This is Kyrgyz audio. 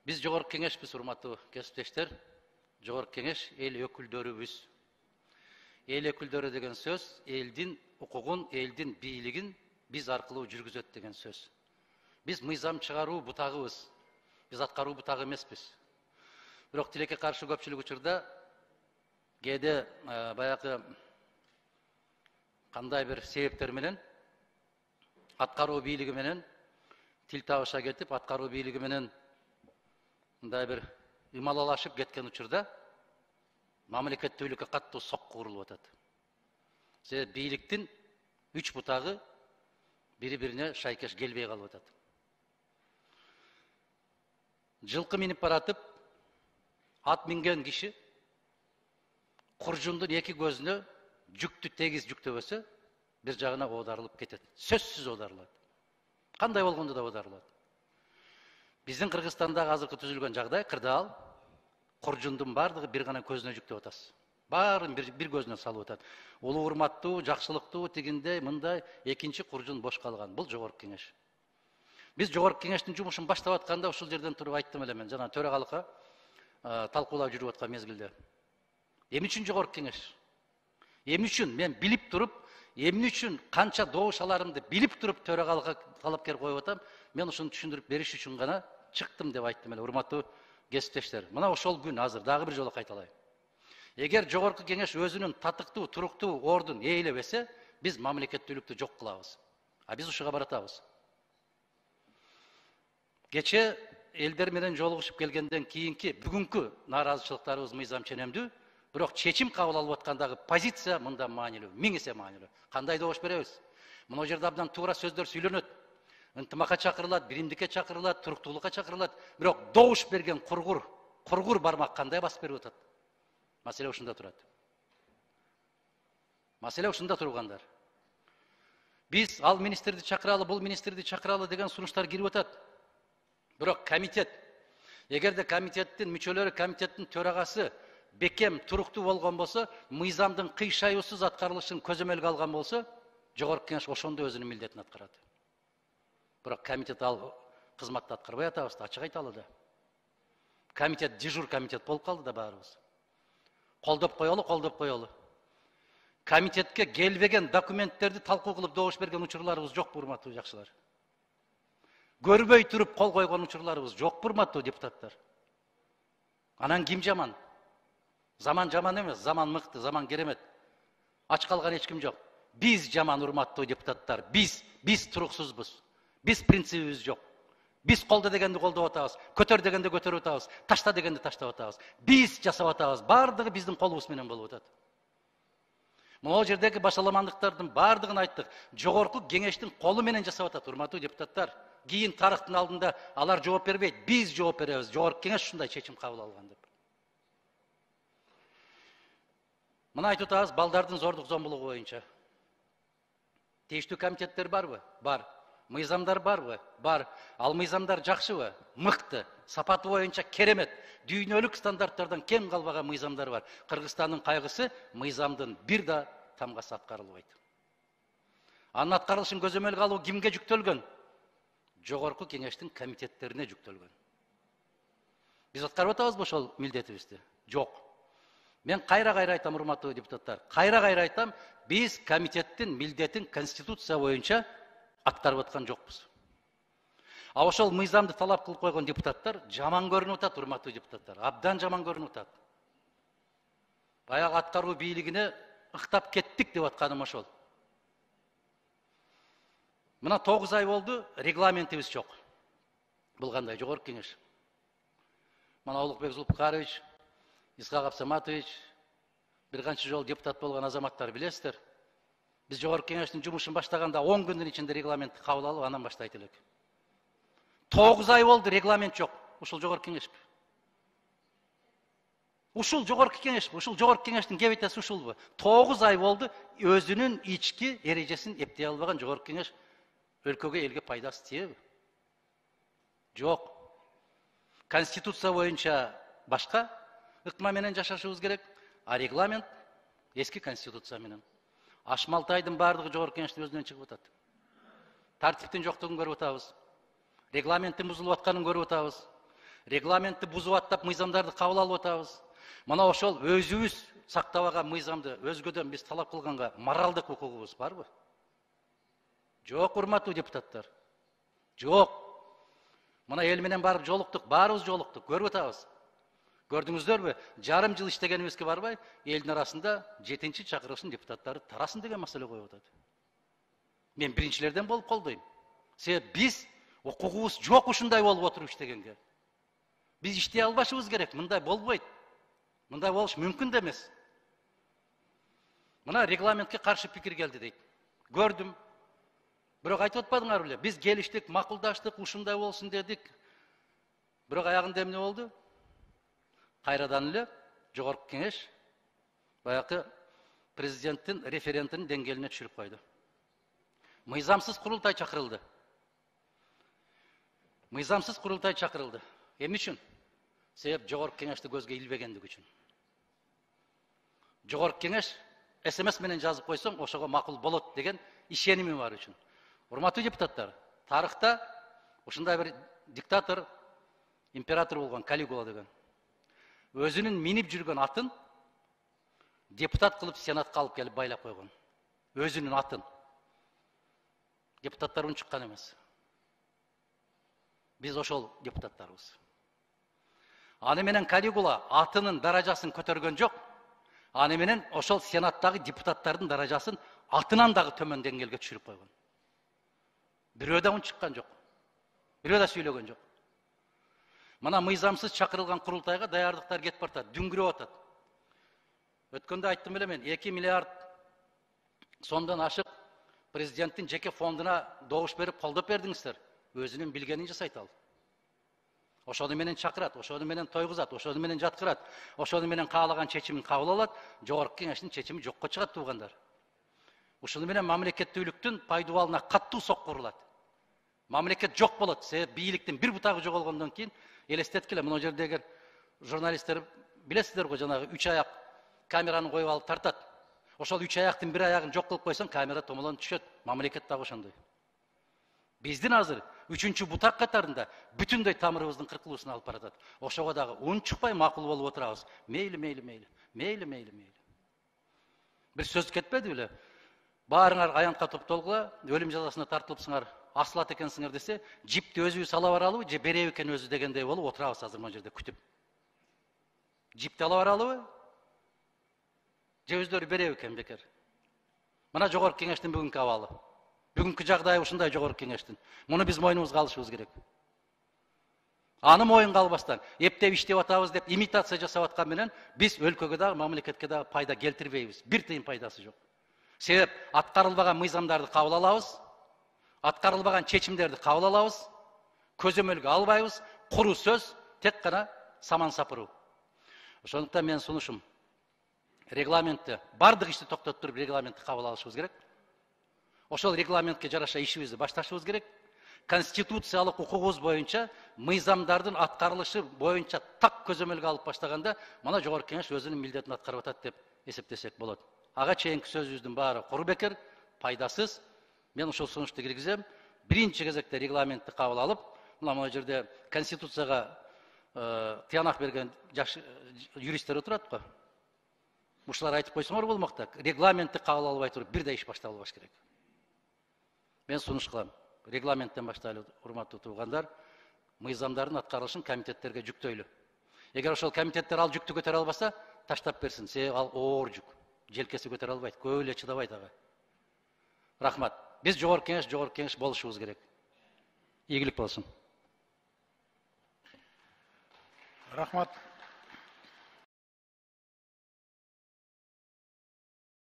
Биз жогорку кеңешпиз, урматтуу кесиптештер. Жогорку кеңеш эл өкүлдөрүбүз. Эл өкүлдөрү деген сөз элдин укугун, элдин бийлигин биз аркылуу жүргүзөт деген сөз. Биз мыйзам чыгаруу бутагыбыз. Биз аткаруу бутагы эмеспиз. Бирок тилекке каршы көпчүлүк учурда кээде баягы кандай бир себептер менен аткаруу бийлиги менен тил табыша кетип, аткаруу бийлиги менен мындай бир ымалалашып кеткен учурда мамлекеттүүлүккө каттуу сокку урулуп атат. Себеби бийликтин үч бутагы бири-бирине шайкеш келбей калып атат. Жылкы минип баратып, ат минген киши куржундун эки көзүнө жүктү тегиз жүктөбөсө, бир жагына оодарылып кетет. Сөзсүз оодарылат. Кандай болгондо да оодарылат. Биздин Кыргызстандагы азыркы түзүлгөн жагдай кырдаал, куржундун бардыгы бир гана көзүнө жүктөп атасыз. Баарын бир көзүнө салып атат. Улуу урматтуу, жакшылыктуу, тигиндей, мындай экинчи куржун бош калган. Бул жогорку кеңеш. Биз жогорку кеңештин жумушун баштап атканда ушул жерден туруп айттым эле мен, жана төрагалыкка талкуулап жүрүп аткан мезгилде. Эмне үчүн жогорку кеңеш? Эмне үчүн мен билип туруп, эмне үчүн канча добуш аларымды билип туруп төрагалыкка талапкер коюп атам? Мен ушуну түшүндүрүп бериш үчүн гана чыктым деп айттым эле, урматтуу кесиптештер. Мына ошол күн азыр дагы бир жолу кайталайм. Эгер жогорку кеңеш өзүнүн татыктуу, туруктуу ордун ээлебесе, биз мамлекеттүүлүктү жок кылабыз. А биз ушуга баратабыз. Кече элдер менен жолугушуп келгенден кийинки бүгүнкү нааразычылыктарыбыз мыйзам ченемдүү, бирок чечим кабыл алып аткандагы позиция мындан маанилүү, 1000 эсе маанилүү. Кандай добуш беребиз? Мына жерде абдан туура сөздөр сүйлөнөт. Ынтымакка чакырылат, биримдикке чакырылат, туруктуулукка чакырылат. Бирок добуш берген кургур бармак кандай басып берип атат? Маселе ушунда турат. Маселе ушунда тургандар. Биз ал министрди чакыралы, бул министрди чакыралы деген сунуштар кирип атат. Бирок комитет, эгерде комитеттин мүчөлөрү, комитеттин төрагасы бекем, туруктуу болгон болсо, мыйзамдын кыйшаюусуз аткарылышын көзөмөлгө алган болсо, жогорку кеңеш ошондо өзүнүн милдетин аткарат. Бирок комитет ал кызматты аткарбай атабыз да, ачык айталы да. Комитет дежур комитет болуп калды да баарыбыз. Колдоп коелу. Комитетке келбеген документтерди талкуу кылып добуш берген учурларыбыз жок, урматтуу жакшылар. Көрбөй туруп кол койгон учурларыбыз жок, урматтуу депутаттар. Анан ким жаман? Заман жаман эмес, заман мыкты, заман керемет. Ач калган эч ким жок. Биз жаман, урматтуу депутаттар. Биз туруксузбуз. Биз принцибибиз жок. Биз колдо дегенди колдоп атабыз, көтөр дегенди көтөрүп атабыз, ташта дегенди таштап атабыз. Биз жасап атабыз, бардыгы биздин колубуз менен болуп атат. Могул жердеги башаламандыктардын бардыгын айттык. Жогорку кеңештин колу менен жасап атат, урматтуу депутаттар. Кийин тарыхтын алдында алар жооп бербейт, биз жооп беребиз. Жогорку кеңеш ушундай чечим кабыл алган деп. Мына айтып атабыз балдардын зордук зомбулугу боюнча. Тийиштүү комитеттер барбы? Бар. Мыйзамдар барбы? Бар. Ал мыйзамдар жакшыбы? Мыкты. Сапаты боюнча керемет. Дүйнөлүк стандарттардан кем калбаган мыйзамдар бар. Кыргызстандын кайгысы мыйзамдын бир да тамгасы аткарылбайт. Анын аткарылышын көзөмөлгө алуу кимге жүктөлгөн? Жогорку кеңештин комитеттерине жүктөлгөн. Биз аткарып атабызбы ошол милдетибизди? Жок. Мен кайра айтам, урматтуу депутаттар. Кайра айтам, биз комитеттин милдетин конституция боюнча аткарып аткан жокпуз. А ошол мыйзамды талап кылып койгон депутаттар жаман көрүнүп атат, урматтуу депутаттар. Абдан жаман көрүнүп атат. Баягы аткаруу бийлигине ыктап кеттик деп атканым ошол. Мына 9 ай болду, регламентибиз жок. Бул кандай жогорку кеңеш? Мына Улукбек Зулпукарович, Исхак Абсаматович, бир канча жолу депутат болгон азаматтар билесиздер. Биз жогорку кеңештин жумушун баштаганда 10 күндүн ичинде регламентти кабыл алып, анан баштайт элек. 9 ай болду, регламент жок. Ушул жогорку кеңешпи? Ушул жогорку кеңешпи? Ушул жогорку кеңештин кебетеси ушулбу? 9 ай болду, өзүнүн ички эрежесин эптей албаган жогорку кеңеш өлкөгө, элге пайдасы тиеби? Жок. Конституция боюнча башка ыкма менен жашашыбыз керек, а регламент эски конституция менен. Ашмалтайдын бардыгы жогорку кеңештин өзүнөн чыгып атат. Тартиптин жоктугун көрүп атабыз. Регламенттин бузулуп атканын көрүп атабыз. регламентти бузуп аттап мыйзамдарды кабыл алып атабыз. Мына ошол өзүбүз сактабаган мыйзамды өзгөдөн биз талап кылганга моралдык укугубуз барбы? Жок, урматтуу депутаттар. Жок. Мына эл менен барып жолуктук, баарыбыз жолуктук, көрүп атабыз. Көрдүңүздөрбү? Жарым жыл иштегенибизге барбай, элдин арасында 7-чи чакырылыштын депутаттары тарасын деген маселе коюп атат. Мен биринчилерден болуп колдойм. Себеп биз укугубуз жок ушундай болуп отуруп иштегенге. Биз иштей албашыбыз керек, мындай болбойт. Мындай болуш мүмкүн да эмес. Мына регламентке каршы пикир келди дейт. Көрдүм. Бирок айтып атпадыңар беле? Биз келиштик, макулдаштык, ушундай болсун дедик. Бирок аягында эмне болду? Кайрадан эле жогорку кеңеш баягы президенттин референдумдун деңгээлине түшүрүп койду. Мыйзамсыз курултай чакырылды. Мыйзамсыз курултай чакырылды. Эмне үчүн? Себеп жогорку кеңешти көзгө илбегендиги үчүн. Жогорку кеңеш СМС менен жазып койсоң, ошого макул болот деген ишеними бар үчүн. Урматтуу депутаттар, тарыхта ушундай бир диктатор, император болгон Калигула деген. Өзүнүн минип жүргөн атын депутат кылып сенатка алып келип байлап койгон. Өзүнүн атын. Депутаттар унчуккан эмес. Биз ошол депутаттарыбыз. Аны менен Калигула атынын даражасын көтөргөн жок. Аны менен ошол сенаттагы депутаттардын даражасын атынан дагы төмөн деңгээлге түшүрүп койгон. Бирөө да унчуккан жок. Бирөө да сүйлөгөн жок. Мына мыйзамсыз чакырылган курултайга даярдыктар кетип бартат, дүңгүрөп атат. Өткөндө айттым эле мен, 2 миллиард сомдон ашык президенттин жеке фондуна добуш берип колдоп бердиңиздер. Өзүнүн билгенин жасайт ал. Ошону менен чакырат, ошону менен тойгузат, ошону менен жаткырат, ошону менен каалаган чечимин кабыл алат, жогорку кеңештин чечими жокко чыгат туугандар. Ушуну менен мамлекеттүүлүктүн пайдубалына каттуу сокку урулат. Мамлекет жок болот, себеп бийликтин бир бутагы жоголгондон кийин элестеткиле, мына жерде эгер журналисттер билесиздер го, жанагы 3 аяк камераны коюп алып тартат. Ошол 3 аяктын бир аягын жок кылып койсоң, камера томолонуп түшөт. Мамлекет дагы ошондой. Биздин азыр 3-чү бутак катарында бүтүндөй тамырыбыздын кыркылуусуна алып баратат. Ошого дагы унчукпай макул болуп отурабыз. Мейли. Бир сөз кетпеди беле? Баарыңар аянтка топтолгула, өлүм жазасына тартылыпсыңар, асылат экенсиңер десе, жипти өзүбүз ала баралыбы, же береби экен өзү дегендей болуп отурабыз азыр мына жерде күтүп. Жипти ала баралыбы? Же өздөрү береби экен бекер? Мына жогорку кеңештин бүгүнкү абалы. Бүгүнкү жагдайы ушундай жогорку кеңештин. Муну биз мойнубузга алышыбыз керек. Аны моюнга албастан, эптеп иштеп атабыз деп имитация жасап аткан менен биз өлкөгө дагы, мамлекетке дагы пайда келтирбейбиз. Бир тыйын пайдасы жок. Себеп аткарылбаган мыйзамдарды кабыл алабыз, аткарылбаган чечимдерди кабыл алабыз, көзөмөлгө албайбыз, куру сөз, тек гана саман сапыруу. Ошондуктан менин сунушум, регламентти, бардык ишти токтотуп туруп регламентти кабыл алышыбыз керек. Ошол регламентке жараша ишибизди башташыбыз керек. Конституциялык укугубуз боюнча мыйзамдардын аткарылышы боюнча так көзөмөлгө алып баштаганда, мына жогорку кеңеш өзүнүн милдетин аткарып атат деп эсептесек болот. Ага чейинки сөзүбүздүн баары куру бекер, пайдасыз. Мен ушул сунушту киргизем. Биринчи кезекте регламентти кабыл алып, мына жерде Конституцияга тыянак берген жаш юристтер отурат го. Ушулар айтып койсоңор болмок да, регламентти кабыл албай туруп бир да иш башталбаш керек. Мен сунуш кылам. Регламенттен баштайлы, урматтуу туугандар, мыйзамдардын аткарылышын комитеттерге жүктөйлү. Эгер ошол комитеттер ал жүктү көтөрө албаса, таштап берсин. Себеби ал оор жүк. Желкеси көтөрө албайт, көп эле чыдабайт ага. Рахмат. Биз жогорку кеңеш болушубуз керек. Ийгилик болсун. Рахмат.